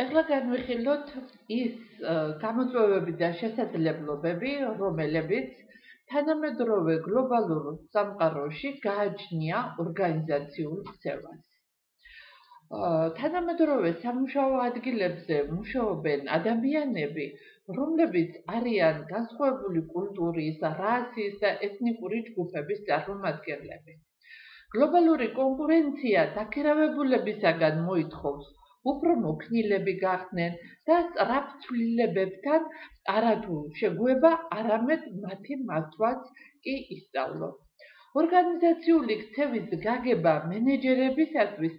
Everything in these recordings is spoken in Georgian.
ეხლა განვიხილოთ ის გამოწვევები და შესაძლებლობები, რომელებიც თანამედროვე გლობალურ სამყაროში გააჩნია ორგანიზაციულ ქცევას. თანამედროვე სამუშაო ადგილებზე მუშაობენ ადამიანები, რომლებიც არიან განსხვავებული კულტურის, რასის და ეთნიკური ჯგუფების წარმომადგენლები. გლობალური კონკურენცია დაქირავებულებისაგან მოითხოვს უფრო მოქნილები გახდნენ და სწრაფ ცვლილებებთან არათუ შეგუება, არამედ მათი მართვაც კი ისწავლონ. ორგანიზაციული ქცევის გაგება მენეჯერებისათვის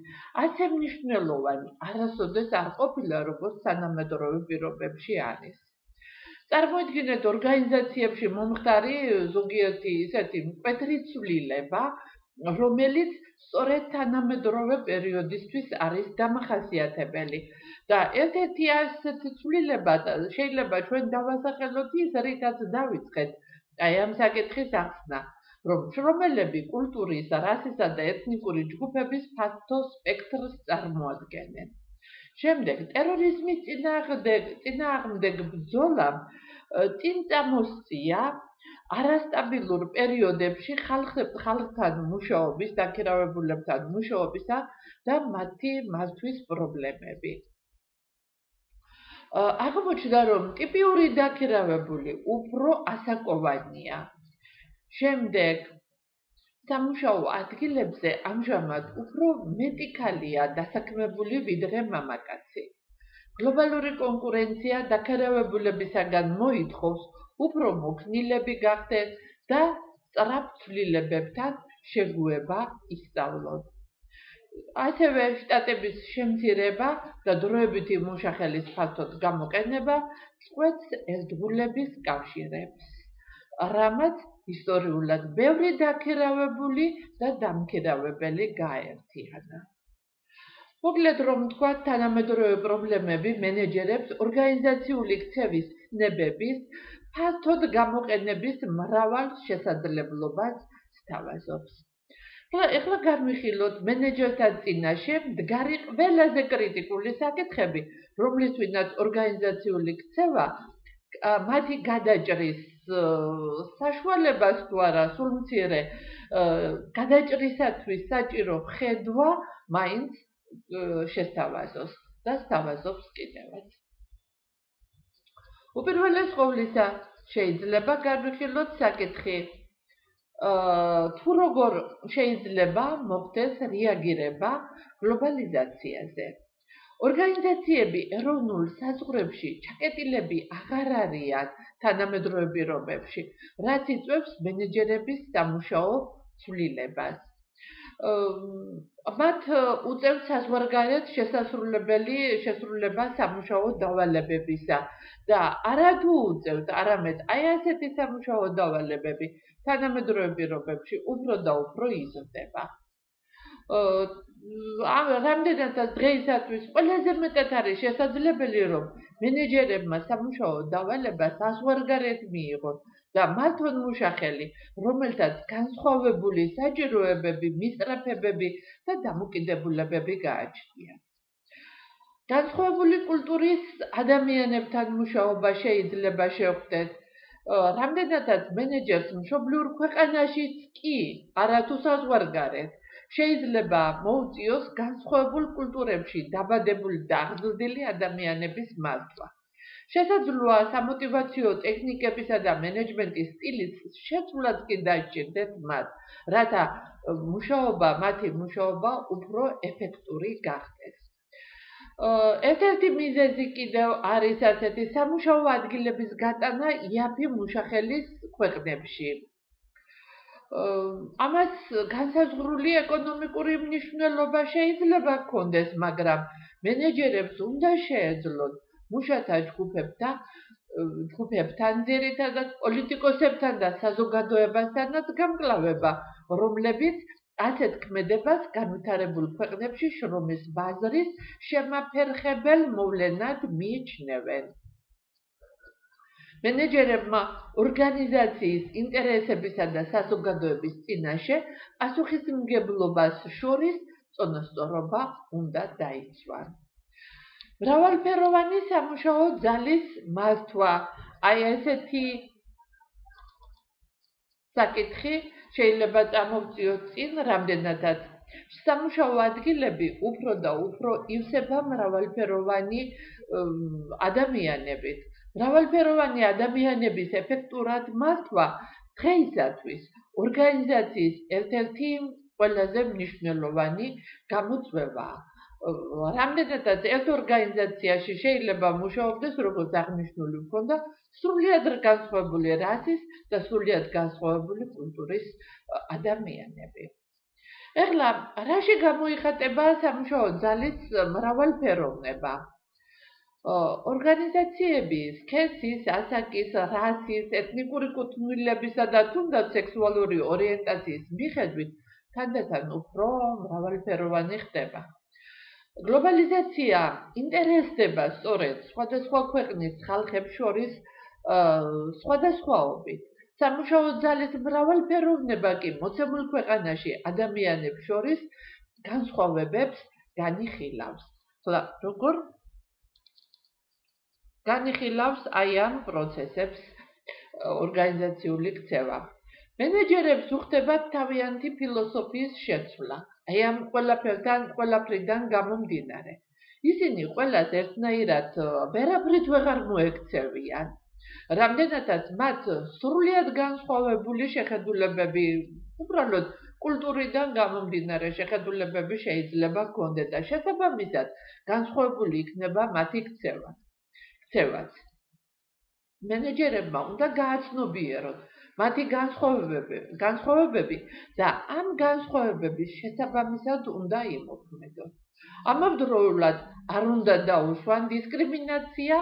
ასე მნიშვნელოვანი არასოდეს არ ყოფილა, როგორც თანამედროვე პირობებში არის. წარმოიდგინეთ ორგანიზაციებში მომხდარი ზოგიერთი ისეთი მკვეთრი ცვლილება, რომელიც სწორედ თანამედროვე პერიოდისთვის არის დამახასიათებელი და ერთ-ერთი ასეთი ცვლილება შეიძლება ჩვენ დავასახელოთ ის, რითაც დავიწყეთ ამ საკითხის ახსნა, რომ შრომელები კულტურის, რასისა და ეთნიკური ჯგუფების ფართო სპექტრს წარმოადგენენ. შემდეგ ტერორიზმის წინააღმდეგ ბრძოლამ წინ წამოსწია არასტაბილურ პერიოდებში ხალხთან მუშაობის, დაქირავებულებთან მუშაობისა და მათი მართვის პრობლემები. აღმოჩნდა, რომ ტიპიური დაქირავებული უფრო ასაკოვანია. შემდეგ სამუშაო ადგილებზე ამჟამად უფრო მეტი ქალია დასაქმებული ვიდრე მამაკაცი. გლობალური კონკურენცია დაქირავებულებისაგან მოითხოვს უფრო მოქნილები გახდნენ და სწრაფ ცვლილებებთან შეგუება ისწავლონ. ასევე შტატების შემცირება და დროებითი მუშახელის ფართოდ გამოყენება წყვეტს ერთგულების კავშირებს, რამაც ისტორიულად ბევრი დაქირავებული და დამქირავებელი გააერთიანა. მოკლედ რომ ვთქვათ, თანამედროვე პრობლემები მენეჯერებს ორგანიზაციული ქცევის ცნებების ფართოდ გამოყენების მრავალ შესაძლებლობას სთავაზობს. ეხლა განვიხილოთ მენეჯერთა წინაშე მდგარი ყველაზე კრიტიკული საკითხები, რომლისთვისაც ორგანიზაციული ქცევა მათი გადაჭრის საშუალებას თუ არა, სულ მცირე გადაჭრისათვის საჭირო ხედვა მაინც შესთავაზოს და სთავაზობს კიდევაც. უპირველეს ყოვლისა, შეიძლება განვიხილოთ საკითხი, თუ როგორ შეიძლება მოხდეს რეაგირება გლობალიზაციაზე. ორგანიზაციები ეროვნულ საზღვრებში ჩაკეტილები აღარ არიან თანამედროვე პირობებში, რაც იწვევს მენეჯერების სამუშაო ცვლილებას. მათ უწევს საზღვარგარეთ შესრულება სამუშაო დავალებებისა და არათუ უწევთ, არამედ აი ასეთი სამუშაო დავალებები თანამედროვე პირობებში უფრო და უფრო იზრდება. რამდენადაც დღეისათვის ყველაზე მეტად არის შესაძლებელი, რომ მენეჯერებმა სამუშაო დავალება საზღვარგარეთ მიიღონ და მათონ მუშახელი, რომელთაც განსხვავებული საჭიროებები, მისწრაფებები და დამოკიდებულებები გააჩნიათ. განსხვავებული კულტურის ადამიანებთან მუშაობა შეიძლება შეხვდეთ. რამდენადაც მენეჯერს მშობლიურ ქვეყანაშიც კი, არათუ საზღვარგარეთ, შეიძლება მოუწიოს განსხვავებულ კულტურებში დაბადებული და აღზრდილი ადამიანების მართვა. შესაძლოა სამოტივაციო ტექნიკებისა და მენეჯმენტის სტილის შეცვლაც კი დაჭირდეთ მათ, რათა მათი მუშაობა უფრო ეფექტური გახდეს. ერთ-ერთი მიზეზი კიდევ არის ასეთი სამუშაო ადგილების გატანა იაფი მუშახელის ქვეყნებში. ამას განსაზღვრული ეკონომიკური მნიშვნელობა შეიძლება ჰქონდეს, მაგრამ მენეჯერებს უნდა შეეძლოთ მუშათა ჯგუფებთან, ძირითადად პოლიტიკოსებთან და საზოგადოებასთანაც გამკლავება, რომლებიც ასეთ ქმედებას განვითარებულ ქვეყნებში შრომის ბაზრის შემაფერხებელ მოვლენად მიიჩნევენ. მენეჯერებმა ორგანიზაციის ინტერესებისა და საზოგადოების წინაშე პასუხისმგებლობას შორის წონასწორობა უნდა დაიცვან. მრავალფეროვანი სამუშაო ძალის მართვა. აი ესეთი საკითხი შეიძლება წამოვწიოთ წინ რამდენადაც. სამუშაო ადგილები უფრო და უფრო ივსება მრავალფეროვანი ადამიანებით. მრავალფეროვანი ადამიანების ეფექტურად მართვა დღეისათვის ორგანიზაციის ერთ-ერთი ყველაზე მნიშვნელოვანი გამოწვევაა. რამდენადაც ერთ ორგანიზაციაში შეიძლება მუშაობდეს, როგორც აღნიშნული ჰქონდა, სრულიად განსხვავებული რასის და სრულიად განსხვავებული კულტურის ადამიანები. ეხლა რაში გამოიხატება სამუშაო ძალის მრავალფეროვნება? ორგანიზაციები სქესის, ასაკის, რასის, ეთნიკური კუთვნილებისა და თუნდაც სექსუალური ორიენტაციის მიხედვით თანდათან უფრო მრავალფეროვანი ხდება. გლობალიზაცია ინტერესდება სწორედ სხვადასხვა ქვეყნის ხალხებს შორის სხვადასხვაობით. სამუშაო ძალის მრავალფეროვნება კი მოცემულ ქვეყანაში ადამიანებს შორის განსხვავებებს განიხილავს. ხლა როგორ განიხილავს აი ამ პროცესებს ორგანიზაციული ქცევა? მენეჯერებს უხდებათ თავიანთი ფილოსოფიის შეცვლა. აი ამ ყველაფრიდან გამომდინარე. ისინი ყველას ერთნაირად ვერაფრით ვეღარ მოექცევიან. რამდენადაც მათ სრულიად განსხვავებული შეხედულებები, უბრალოდ კულტურიდან გამომდინარე შეხედულებები შეიძლება ჰქონდეს და შესაბამისად განსხვავებული იქნება მათი ქცევაც. მენეჯერებმა უნდა გააცნობიეროთ მათი განსხვავებები და ამ განსხვავებების შესაბამისად უნდა იმოქმედონ. ამავდროულად არ უნდა დაუშვან დისკრიმინაცია,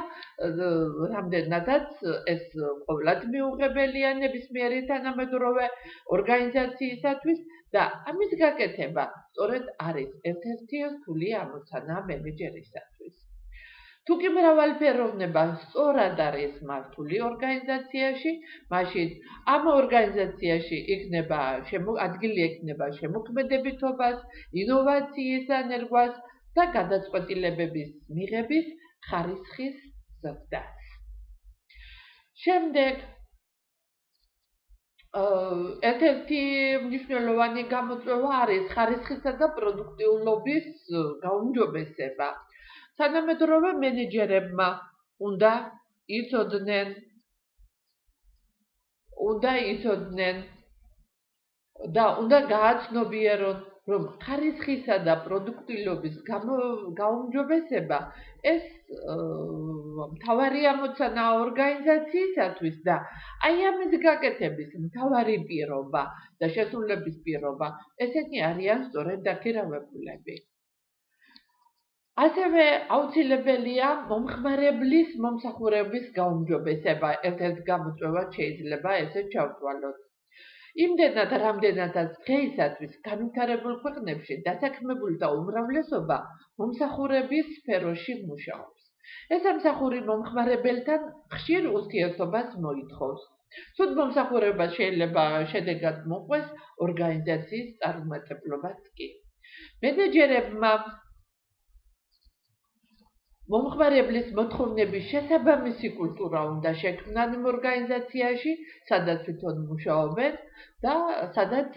რამდენადაც ეს ყოველად მიუღებელია ნებისმიერი თანამედროვე ორგანიზაციისათვის და ამის გაკეთება სწორედ არის ერთ-ერთი რთული ამოცანა მენეჯერისათვის. თუკი მრავალფეროვნება სწორად არის მართული ორგანიზაციაში, მაშინ ამ ორგანიზაციაში ადგილი ექნება შემოქმედებითობას, ინოვაციის ენერგიას და გადაწყვეტილებების მიღების ხარისხის ზრდას. შემდეგ ერთ-ერთი მნიშვნელოვანი გამოწვევა არის ხარისხისა და პროდუქტიულობის გაუმჯობესება. თანამედროვე მენეჯერებმა უნდა იცოდნენ და უნდა გააცნობიერონ, რომ ხარისხისა და პროდუქტიულობის გაუმჯობესება ეს მთავარი ამოცანაა ორგანიზაციისათვის და აი ამის გაკეთების მთავარი პირობა და შესრულების პირობა ესენი არიან სწორედ დაქირავებულები. ასევე აუცილებელია მომხმარებლის მომსახურების გაუმჯობესება, ერთ-ერთ გამოწვევად შეიძლება ესე ჩავთვალოთ. იმდენად, რამდენადაც დღეისათვის განვითარებულ ქვეყნებში დასაქმებულთა უმრავლესობა მომსახურების სფეროში მუშაობს. ეს სამსახური მომხმარებელთან ხშირ ურთიერთობას მოითხოვს. თუმცა მომსახურება შეიძლება შედეგად მოყვეს ორგანიზაციის წარუმატებლობაც კი. მენეჯერებმა მომხმარებლის მოთხოვნების შესაბამისი კულტურა უნდა შექმნან იმ ორგანიზაციაში, სადაც თვითონ მუშაობენ და სადაც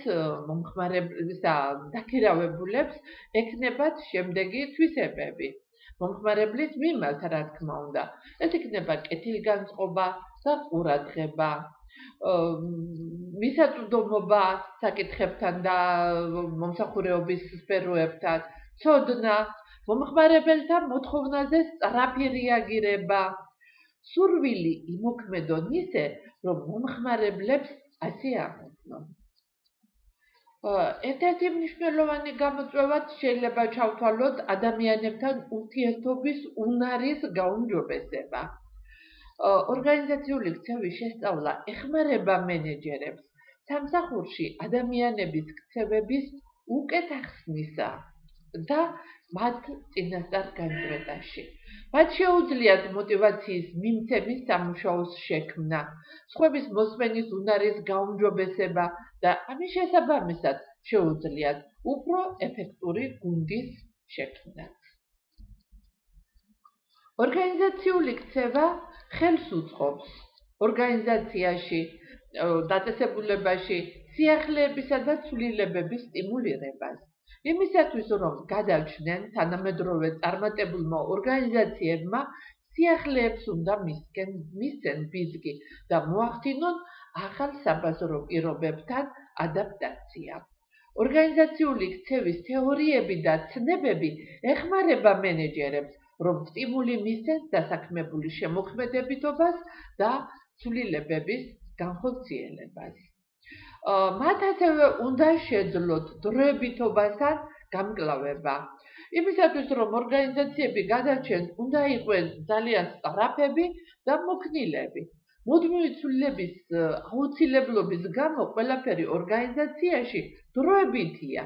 მომხმარებლის და დაქირავებულებს ექნებათ შემდეგი თვისებები. მომხმარებლის მიმართ, რა თქმა უნდა, ეს იქნება კეთილგანწყობა და ყურადღება, მისაწვდომობა საკითხებთან და მომსახურების სფეროებთან, ცოდნა, მომხმარებელთა მოთხოვნაზე სწრაფი რეაგირება, სურვილი იმოქმედონ ისე, რომ მომხმარებლებს ასე ამოწმონ. ერთ-ერთი მნიშვნელოვანი გამოწვევად შეიძლება ჩავთვალოთ ადამიანებთან ურთიერთობის უნარის გაუმჯობესება. ორგანიზაციული ქცევის შესწავლა ეხმარება მენეჯერებს სამსახურში ადამიანების ქცევების უკეთ ახსნისა და მათ წინასწარ განწყვეტაში. მათ შეუძლიათ მოტივაციის მიმცემის სამუშაოს შექმნა, სხვების მოსმენის უნარის გაუმჯობესება და ამის შესაბამისად შეუძლიათ უფრო ეფექტური გუნდის შექმნა. ორგანიზაციული ქცევა ხელს უწყობს ორგანიზაციაში დაწესებულებაში სიახლეებისა და ცვლილებების სტიმულირებას. იმისათვის, რომ გადავჩნენ თანამედროვე წარმატებულმა ორგანიზაციებმა სიახლეებს უნდა მისცენ ბიძგი და მოახდინონ ახალ საბაზრო პირობებთან ადაპტაცია. ორგანიზაციული ქცევის თეორიები და ცნებები ეხმარება მენეჯერებს, რომ სტიმული მისცეს დასაქმებული შემოქმედებითობას და ცვლილებების განხორციელებას. მათ ასევე უნდა შეძლოთ დროებითობასთან გამკლავება. იმისათვის, რომ ორგანიზაციები გადარჩენ, უნდა იყვნენ ძალიან სწრაფები და მოქნილები. მუდმივი ცვლილების აუცილებლობის გამო ყველაფერი ორგანიზაციაში დროებითია.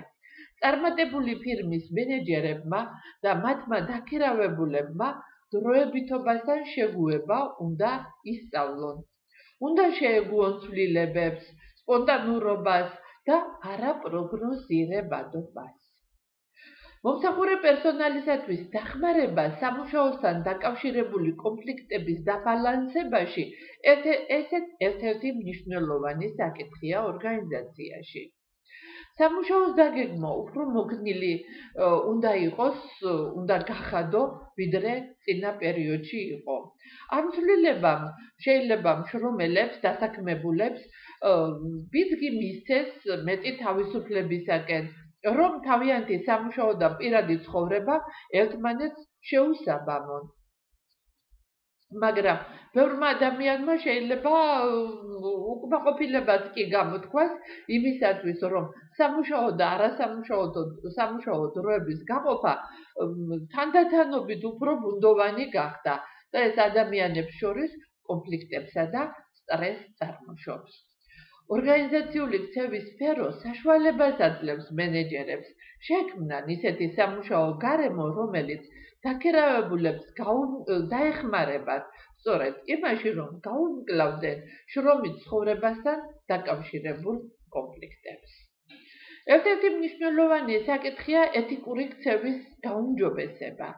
წარმატებული ფირმის მენეჯერებმა და მათმა დაქირავებულებმა დროებითობასთან შეგუება უნდა ისწავლონ. უნდა შეეგუონ ცვლილებებს, სპონტანურობას და არაპროგნოზირებადობას. მომსახურე პერსონალისათვის დახმარება სამუშაოსთან დაკავშირებული კონფლიქტების დაბალანსებაში ერთ-ერთი მნიშვნელოვანი საკითხია ორგანიზაციაში. სამუშაოს დაგეგმა უფრო მოგნილი უნდა იყოს, უნდა გახადო, ვიდრე წინა პერიოდში იყო. ამ ცვლილებამ შეიძლება მშრომელებს, დასაქმებულებს ბიძგი მისცეს მეტი თავისუფლებისაკენ, რომ თავიანთი სამუშაო და პირადი ცხოვრება ერთმანეთს შეუსაბამონ. მაგრამ ბევრმა ადამიანმა შეიძლება უკმაყოფილებაც კი გამოთქვას იმისათვის, რომ სამუშაო და სამუშაო დროების გაყოფა თანდათანობით უფრო ბუნდოვანი გახდა და ეს ადამიანებს შორის კონფლიქტებსა და სტრესს წარმოშობს. ორგანიზაციული ქცევის სფერო საშუალებას აძლევს მენეჯერებს შექმნან ისეთი სამუშაო გარემო, რომელიც დაქირავებულებს დაეხმარებათ სწორედ იმაში, რომ გაუმკლავდნენ შრომით ცხოვრებასთან დაკავშირებულ კონფლიქტებს. ერთ-ერთი მნიშვნელოვანი საკითხია ეთიკური ქცევის გაუმჯობესება.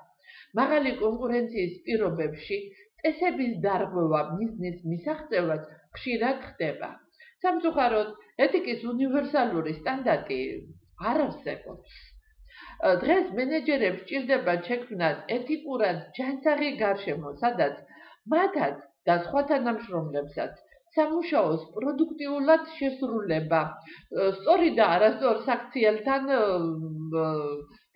მაღალი კონკურენციის პირობებში წესების დარღვევა მიზნის მისაღწევად ხშირად ხდება. სამწუხაროდ, ეთიკის უნივერსალური სტანდარტი არ არსებობს. დღეს მენეჯერებს სჭირდება შექმნან ეთიკურად ჯანსაღი გარშემო, სადაც მათაც და სხვა თანამშრომლებსაც სამუშაოს პროდუქტიულად შესრულება, სწორი და არასწორ საქციელთან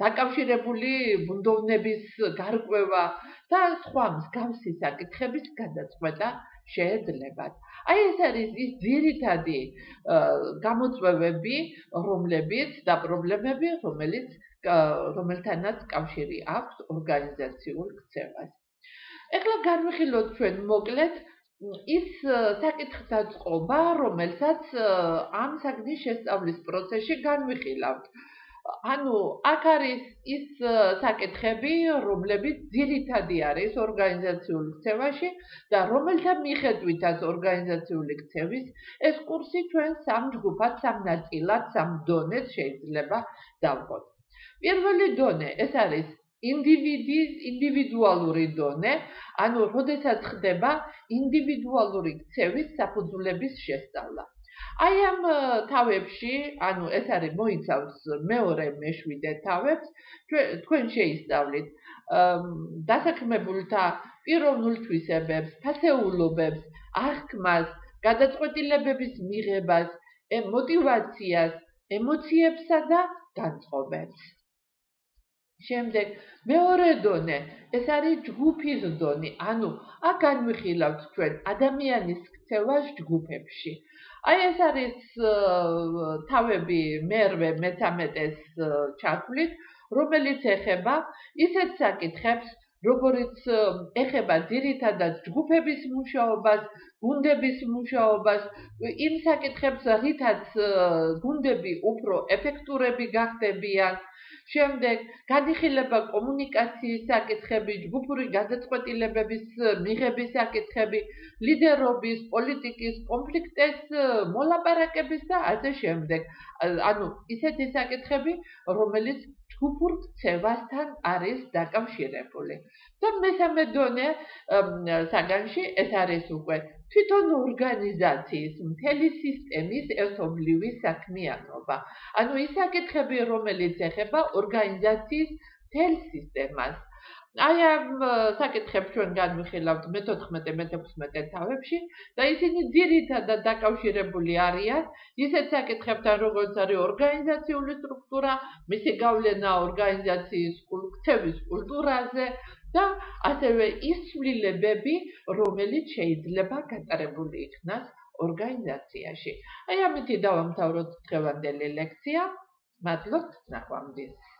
დაკავშირებული ბუნდოვნების გარკვევა და სხვა მსგავსი საკითხების გადაწყვეტა შეეძლებათ. აი ეს არის ის ძირითადი გამოწვევები, რომლებიც და პრობლემები, რომელთანაც კავშირი აქვს ორგანიზაციულ ქცევას. ეხლა განვიხილოთ ჩვენ მოკლედ ის საკითხთა წყობა, რომელსაც ამ საგნის შესწავლის პროცესში განვიხილავთ. აქ არის ის საკითხები, რომლებიც ძირითადი არის ორგანიზაციულ ქცევაში და რომელთა მიხედვითაც ორგანიზაციული ქცევის ეს კურსი ჩვენ სამ ჯგუფად, სამ ნაწილად, სამ დონედ შეიძლება დავყოთ. პირველი დონე ეს არის ინდივიდუალური დონე, როდესაც ხდება ინდივიდუალური ქცევის საფუძვლების შესწავლა. აი ამ თავებში, ეს არის მოიცავს მეორე, მეშვიდე თავებს, თქვენ შეისწავლით დასაქმებულთა პიროვნულ თვისებებს, ფასეულობებს, აღქმას, გადაწყვეტილებების მიღებას, მოტივაციას, ემოციებსა და განწყობებს. შემდეგ მეორე დონე, ეს არის ჯგუფის დონე, აქ განვიხილავთ ჩვენ ადამიანის ქცევას ჯგუფებში. აი ეს არის თავები მერვე, მე-13-ეს ჩათვლით, რომელიც ეხება ისეთ საკითხებს, როგორც ეხება ძირითადად ჯგუფების მუშაობას, გუნდების მუშაობას, იმ საკითხებს, რითაც გუნდები უფრო ეფექტურები გახდებიან. შემდეგ განიხილება კომუნიკაციის საკითხები, ჯგუფური გადაწყვეტილებების მიღების საკითხები, ლიდერობის, პოლიტიკის, კონფლიქტის მოლაპარაკების და ასე შემდეგ. ისეთი საკითხები, რომელიც ჯგუფურ ქცევასთან არის დაკავშირებული. და მესამე დონე საგანში ეს არის უკვე თვითონ ორგანიზაციის მთელი სისტემის ერთობლივი საქმიანობა. ანუ ის საკითხები, რომელიც ეხება ორგანიზაციის მთელ სისტემას. აი ამ საკითხებს ჩვენ განვიხილავთ მე-14-მე-16 თავებში და ისინი ძირითადად დაკავშირებული არიან ისეთ საკითხებთან, როგორც არის ორგანიზაციული სტრუქტურა, მისი გავლენა ორგანიზაციის ქცევის კულტურაზე და ასევე ის ცვლილებები, რომელიც შეიძლება გატარებული იქნას ორგანიზაციაში. აი ამით დავამთავროთ დღევანდელი ლექცია. მადლობთ, ნახვამდის.